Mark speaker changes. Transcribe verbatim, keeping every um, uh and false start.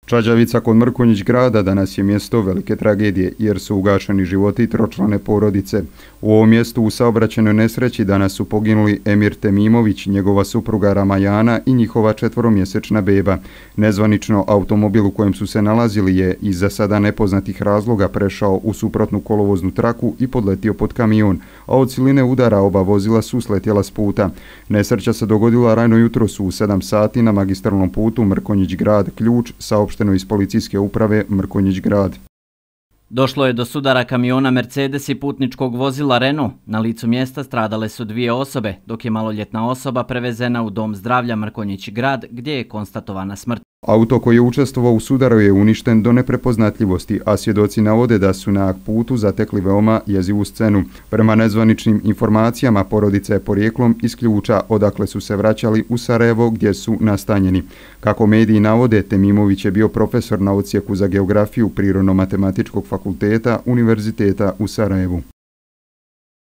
Speaker 1: Čađavica kod Mrkonjić grada danas je mjesto velike tragedije jer su ugašeni životi tročlane porodice. U ovom mjestu u saobraćajnoj nesreći danas su poginuli Emir Temimović, njegova supruga Ramajana i njihova četvoromjesečna beba. Nezvanično automobil u kojem su se nalazili je iz za sada nepoznatih razloga prešao u suprotnu kolovoznu traku i podletio pod kamion, a od siline udara oba vozila su sletjela s puta. Nesreća se dogodila rano jutros u sedam sati na magistralnom putu Mrkonjić grad Ključ, saopšteno iz policijske uprave Mrkonjić grad.
Speaker 2: Došlo je do sudara kamiona Mercedes i putničkog vozila Renault. Na licu mjesta stradale su dvije osobe, dok je maloljetna osoba prevezena u dom zdravlja Mrkonjić grad, gdje je konstatovana smrt.
Speaker 1: Auto koji je učestvovao u sudaru je uništen do neprepoznatljivosti, a svjedoci navode da su na putu zatekli veoma jezivu scenu. Prema nezvaničnim informacijama, porodica je porijeklom iz Ključa, odakle su se vraćali u Sarajevo gdje su nastanjeni. Kako mediji navode, Temimović je bio profesor na odsjeku za geografiju Prirodno-matematičkog fakulteta Univerziteta u Sarajevu.